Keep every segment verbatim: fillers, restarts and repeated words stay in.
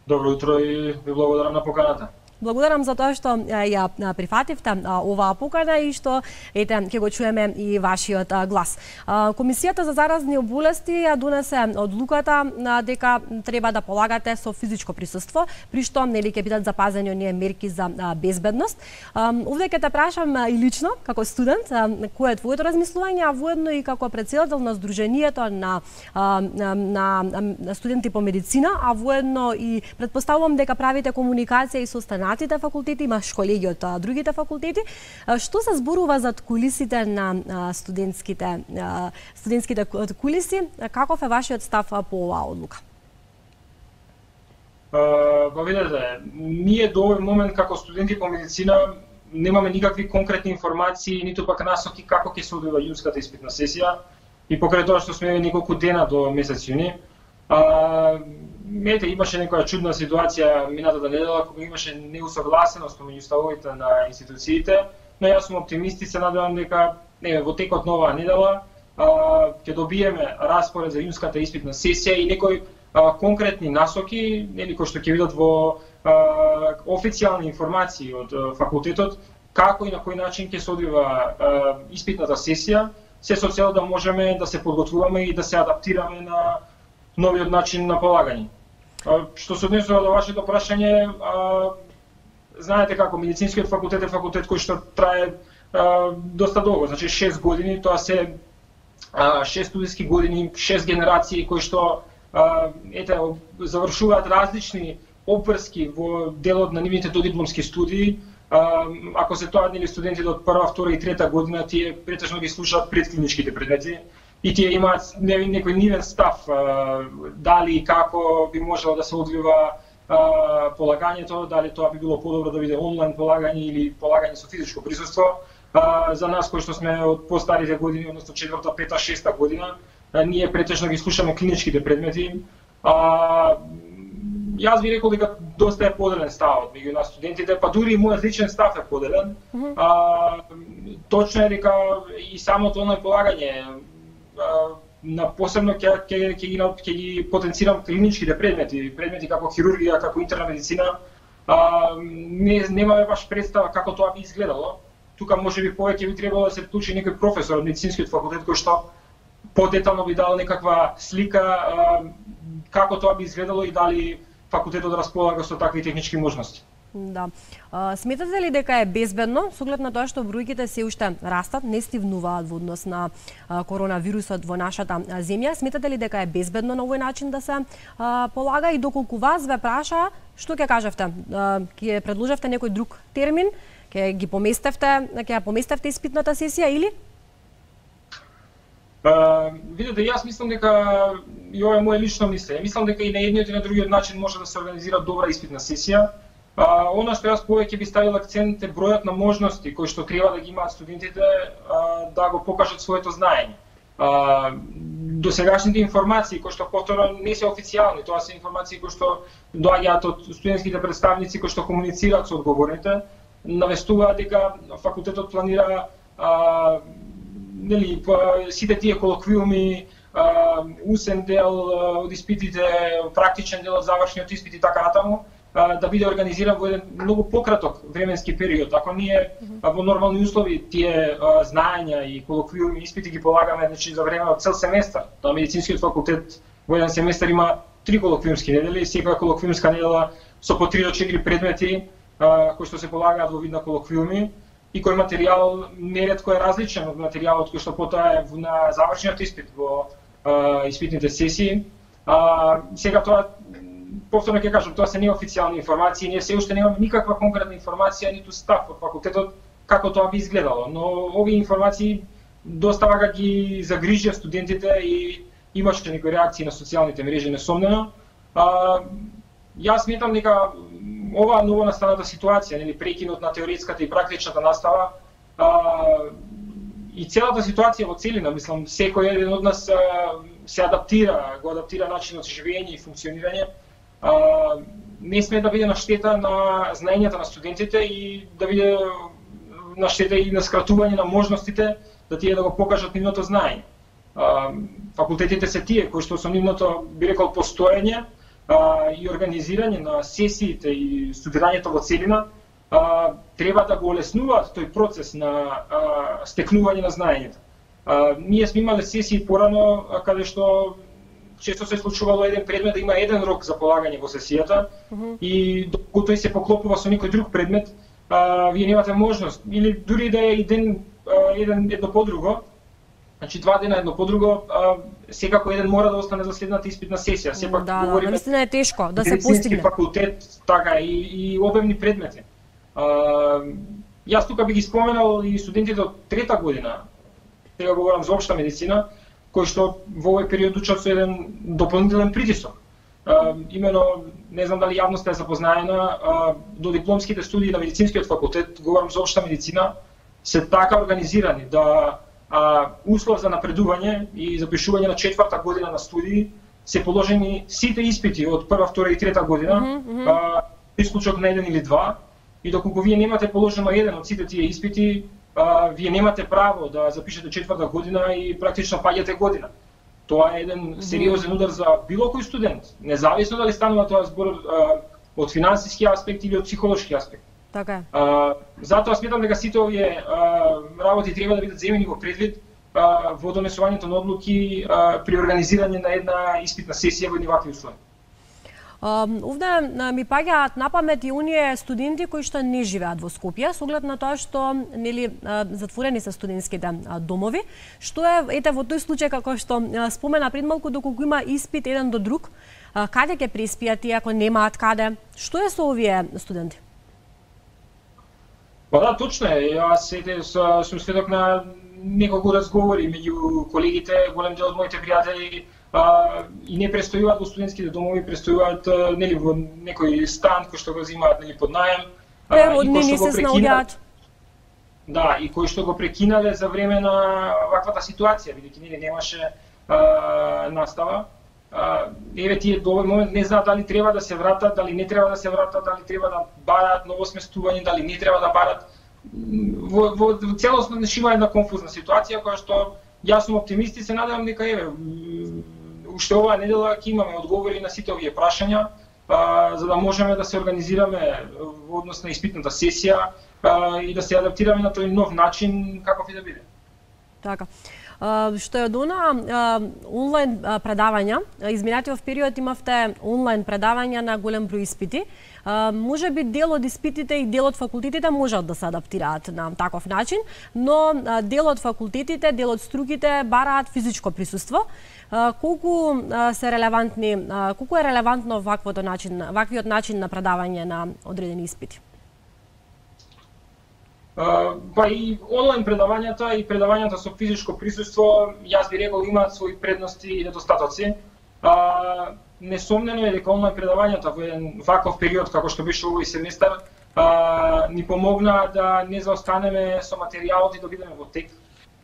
Добро утро и ви благодарам на поканата. Благодарам за тоа што ја прифативте оваа покана и што ете ќе го чуеме и вашиот глас. Комисијата за заразни болести ја донесе одлуката дека треба да полагате со физичко присуство, при што нели ќе бидат запазени оние мерки за безбедност. Овде ќе те прашам и лично како студент кој е твоето размислување, а воедно и како претседател на Сдруженијето на на студенти по медицина, а воедно и претпоставувам дека правите комуникација и со останатите факултети, имаш колеги од другите факултети. Што се зборува за кулисите на студентските студентските кулиси? Каков е вашиот став по оваа одлука? Па видете, ние до овој момент како студенти по медицина немаме никакви конкретни информации, ниту пак насоки како ќе се одвива јунската испитна сесија и покрај тоа што сме неколку дена до месец јуни. Ете, имаше некоја чудна ситуација минатата недела кога имаше неусогласеност помеѓу ставовите на институциите, но јас сум оптимист и се надевам дека не, во текот на оваа недела ќе добиеме распоред за јунската испитна сесија и некои а, конкретни насоки, нели кои што ќе видат во а, официјални информации од а, факултетот како и на кој начин ќе се одвива а, испитната сесија, се со цел да можеме да се подготвуваме и да се адаптираме на новиот начин на полагање. Што се однесува до вашето прашање, а, знаете како медицинскиот факултет е факултет кој што трае а, доста долго, значи шест години, тоа се а, шест студентски години, шест генерации кои што а, ете завршуваат различни обврски во делот на нивните додипломски студии. А, ако се тоа нели студентите од прва, втора и трета година, тие претежно ги слушаат предклиничките предмети и тие имаат некој нивен став дали и како би можело да се одвива полагањето, дали тоа би било подобро да биде онлайн полагање или полагање со физичко присуство. За нас кои што сме од постарите години, односно четврта, пета, шеста година, ние претежно ги слушаме клиничките предмети. Јас би рекол дека доста е поделен ставот меѓу нас студентите, па дури и мојот личен став е поделен. Mm-hmm. а, точно е дека и самото онлайн полагање на посебно ќе ќе ќе ги ќе ги потенцирам клиничките предмети, предмети како хирургија, како интерна медицина. А, не немаме баш представа како тоа би изгледало. Тука можеби повеќе би требало да се вклучи некој професор од медицинскиот факултет кој што подетално би дал некаква слика а, како тоа би изгледало и дали факултетот располага со такви технички можности. Да. А, сметате ли дека е безбедно, со оглед на тоа што бројките се уште растат, не стивнуваат во однос на а, коронавирусот во нашата а, земја? Сметате ли дека е безбедно на овој начин да се а, полага и доколку вас ве праша, што ќе кажевте? А, ќе предложевте некој друг термин? Ќе ги поместевте, ќе ја поместевте испитната сесија или? Uh, видете, јас мислам дека и ова е моје лично мислење. Мислам дека и на едниот и на другиот начин може да се организира добра испитна сесија. Uh, она што јас повеќе би ставил акцент е бројот на можности кои што треба да ги имаат студентите uh, да го покажат своето знаење. Uh, досегашните информации кои што повторно не се официјални, тоа се информации кои што доаѓаат од студентските представници кои што комуницираат со одговорните, навестуваат дека факултетот планира uh, нели сите тие колоквиуми, усен дел од испитите, практичен дел од завршниот испит и така натаму, да биде организиран во еден многу пократок временски период. Ако ние во нормални услови тие знаења и колоквиуми испити ги полагаме значи за време од цел семестар, тоа медицинскиот факултет во еден семестар има три колоквиумски недели, секоја колоквиумска недела со по три до четири предмети кои што се полагаат во вид на колоквиуми и кој материјал неретко е различен од материјалот кој што потоа е на завршниот испит во а, испитните сесии. А, сега тоа, повторно ќе кажам, тоа се неофицијални информации, ние се уште немаме никаква конкретна информација, ниту став од факултетот како тоа би изгледало, но овие информации доста вака ги загрижија студентите и имаше некои реакции на социјалните мрежи несомнено. А, јас сметам дека оваа новонастаната ситуација, нели прекинот на теоретската и практичната настава а, и целата ситуација во целина, мислам, секој еден од нас а, се адаптира, го адаптира начинот на живење и функционирање, а, не сме да биде на штета на знаењата на студентите и да биде на штета и на скратување на можностите да тие да го покажат нивното знаење. А, факултетите се тие кои што со нивното, би рекол, постоење, а, и организирање на сесиите и студирањето во целина а, треба да го олеснуваат тој процес на а, стекнување на знаењето. А, ние сме имале сесии порано а, каде што често се случувало еден предмет да има еден рок за полагање во сесијата uh -huh. и докато тој се поклопува со некој друг предмет, а, вие немате можност или дури да е и ден а, еден едно по друго. Значи два дена едно по друго, а, секако еден мора да остане за следната испитна сесија. Сепак да, говориме, да, наистина е тешко да се постигне. Факултет, така и, и обемни предмети. А, јас тука би ги споменал и студентите од трета година. Сега говорам за општа медицина, кои што во овој период учат со еден дополнителен притисок. А, имено, не знам дали јавноста е запознаена, а, до дипломските студии на медицинскиот факултет, говорам за општа медицина, се така организирани да а, услов за напредување и запишување на четврта година на студии се положени сите испити од прва, втора и трета година, mm -hmm. а, исклучок на еден или два, и доколку вие немате положено еден од сите тие испити, а, вие немате право да запишете четврта година и практично паѓате година. Тоа е еден сериозен удар за било кој студент, независно дали станува тоа збор а, од финансиски аспект или од психолошки аспект. Така. А, затоа сметам дека сите овие а, работи треба да бидат земени во предвид а, во донесувањето на одлуки а, при организирање на една испитна сесија во едни вакви услови. Овде ми паѓаат на памет и оние студенти кои што не живеат во Скопје, со оглед на тоа што нели затворени се студентските домови, што е ете во тој случај како што спомена пред малку, доколку има испит еден до друг, каде ќе преспијат и ако немаат каде, што е со овие студенти? Па да, точно е. Јас ете сум сведок на неколку разговори меѓу колегите, голем дел од моите пријатели а, и не престојуваат во студентските домови, престојуваат нели во некој стан кој што го земаат нели под наем. Природнини се снаоѓаат. Да, и кои што го прекинале за време на ваквата ситуација, бидејќи нели немаше а, настава. А, еве тие до овој момент не знаат дали треба да се вратат, дали не треба да се вратат, дали треба да бараат ново сместување, дали не треба да бараат. Во, во, во целосно има една конфузна ситуација која што јас сум оптимист и се надевам дека еве уште оваа недела ќе имаме одговори на сите овие прашања, а, за да можеме да се организираме во однос на испитната сесија а, и да се адаптираме на тој нов начин каков и да биде. Така. Што е од она онлайн предавања, изминатиот период имавте онлайн предавања на голем број испити. Може би дел од испитите и дел од факултетите можат да се адаптираат на таков начин, но дел од факултетите, дел од струките бараат физичко присуство. Колку се релевантни, колку е релевантно ваквото начин, ваквиот начин на предавање на одредени испити? Uh, па и онлайн предавањата и предавањата со физичко присуство, јас би рекол имаат своји предности и недостатоци. Uh, несомнено е дека онлайн предавањата во еден ваков период како што беше овој семестар uh, ни помогна да не заостанеме со материјалот и да бидеме во тек.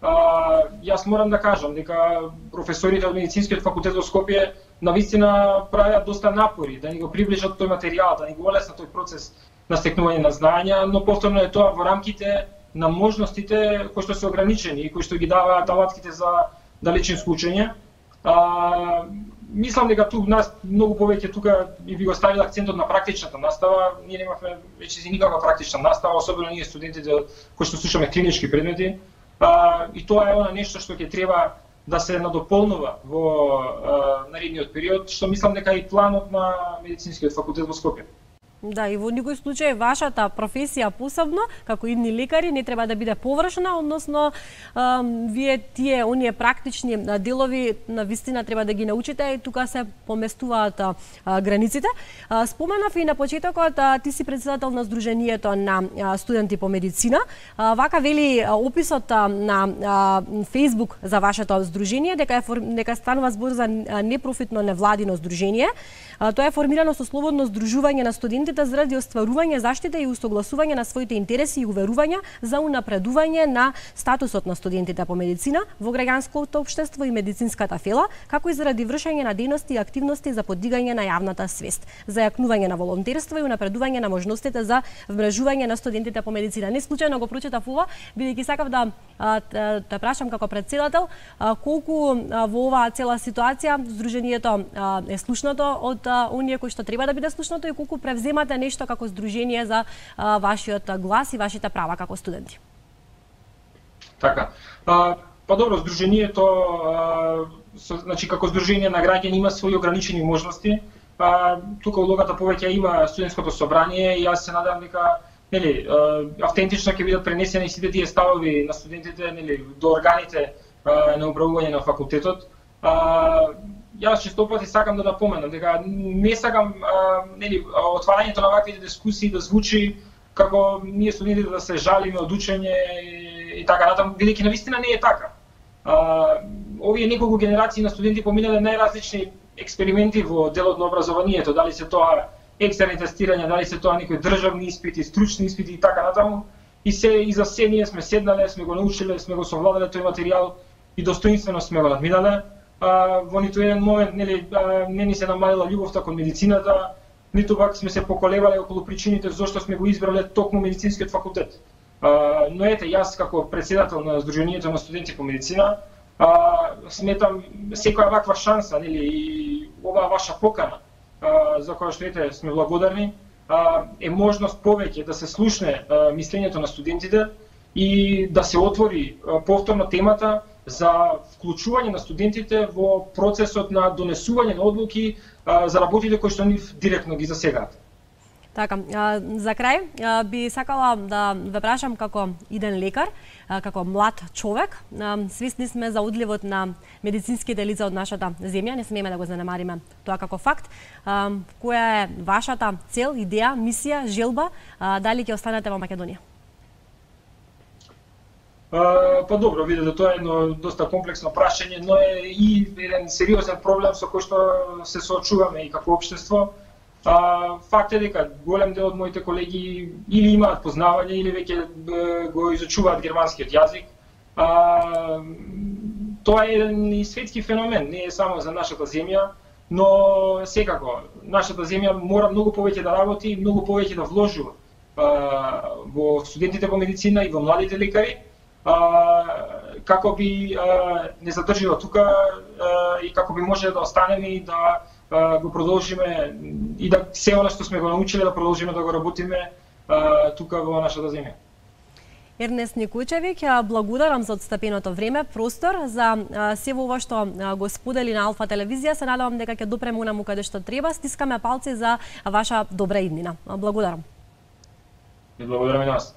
Uh, јас морам да кажам дека професорите од медицинскиот факултет во Скопје навистина правеа доста напори да ни го приближат тој материјал, да ни го олеснат тој процес на стекнување на знаења, но повторно е тоа во рамките на можностите кои што се ограничени и кои што ги даваат алатките за далечинско учење. А, мислам дека тук нас многу повеќе тука и би го ставил акцентот на практичната настава. Ние немавме веќе никаква практична настава, особено ние студентите кои што слушаме клинички предмети. А, и тоа е она нешто што ќе треба да се надополнува во а, наредниот период, што мислам дека е и планот на медицинскиот факултет во Скопје. Да, и во никој случај вашата професија посебно, како идни лекари, не треба да биде површна, односно а, вие тие оние практични делови на вистина треба да ги научите и тука се поместуваат а, границите. А, споменав и на почетокот, а, ти си председател на Сдруженијето на а, студенти по медицина. А, вака вели а, описот а, на а, Facebook за вашето здружение дека е дека станува збор за непрофитно невладино здружение. А, тоа е формирано со слободно здружување на студентите студентите заради остварување, заштита и усогласување на своите интереси и уверувања за унапредување на статусот на студентите по медицина во граѓанското општество и медицинската фела, како и заради вршење на дејности и активности за поддигање на јавната свест, за јакнување на волонтерство и унапредување на можностите за вмрежување на студентите по медицина. Не случајно го прочитав ова, бидејќи сакав да те прашам како председател колку во оваа цела ситуација Сдруженијето е слушнато од оние кои што треба да биде слушнато и колку превземате нешто како Сдружение за вашиот глас и вашите права како студенти. Така. А, па добро, Сдруженијето, а, со, значи како Сдружение на граѓани има своји ограничени можности. А, тука улогата повеќе има студентското собрание и јас се надевам дека нели автентично ќе бидат пренесени сите тие ставови на студентите нели до органите а, на управување на факултетот. А, јас честопати сакам да напоменам дека не сакам а, нели отварањето на вакви дискусии да звучи како ние студентите да се жалиме од учење и, и така натаму, бидејќи навистина не е така. А, овие неколку генерации на студенти поминале најразлични експерименти во делот на образованието, дали се тоа екстерни тестирања, дали се тоа некои државни испити, стручни испити и така натаму. И се и за се ние сме седнале, сме го научиле, сме го совладале тој материјал и достоинствено сме го надминале. А, во ниту еден момент нели а, не ни се намалила љубовта кон медицината, ниту пак сме се поколевале околу причините зошто сме го избрале токму медицинскиот факултет. А, но ете, јас како председател на Сдруженијето на студенти по медицина, а, сметам секоја ваква шанса, нели, и оваа ваша покана, а, за која што ете сме благодарни, а, е можност повеќе да се слушне а, мислењето на студентите и да се отвори а, повторно темата за вклучување на студентите во процесот на донесување на одлуки а, за работите кои што нив директно ги засегаат. Така, за крај би сакала да ве прашам како иден лекар, како млад човек. Свесни сме за одливот на медицинските лица од нашата земја, не смееме да го занемариме тоа како факт. Која е вашата цел, идеја, мисија, желба, дали ќе останете во Македонија? Uh, па добро, видите, тоа е едно доста комплексно прашање, но е и еден сериозен проблем со кој што се соочуваме и како општество. Uh, факт е дека голем дел од моите колеги или имаат познавање или веќе го изучуваат германскиот јазик. Uh, тоа е еден и светски феномен, не е само за нашата земја, но секако нашата земја мора многу повеќе да работи и многу повеќе да вложува uh, во студентите по медицина и во младите лекари. Uh, како би uh, не задржила тука uh, и како би може да останеме и да uh, го продолжиме и да се она што сме го научиле да продолжиме да го работиме uh, тука во нашата земја. Ернест Никучевиќ, благодарам за отстапеното време, простор за се ова што го сподели на Алфа телевизија. Се надевам дека ќе допреме унаму каде што треба. Стискаме палци за ваша добра иднина. Благодарам. И благодарам и на вас.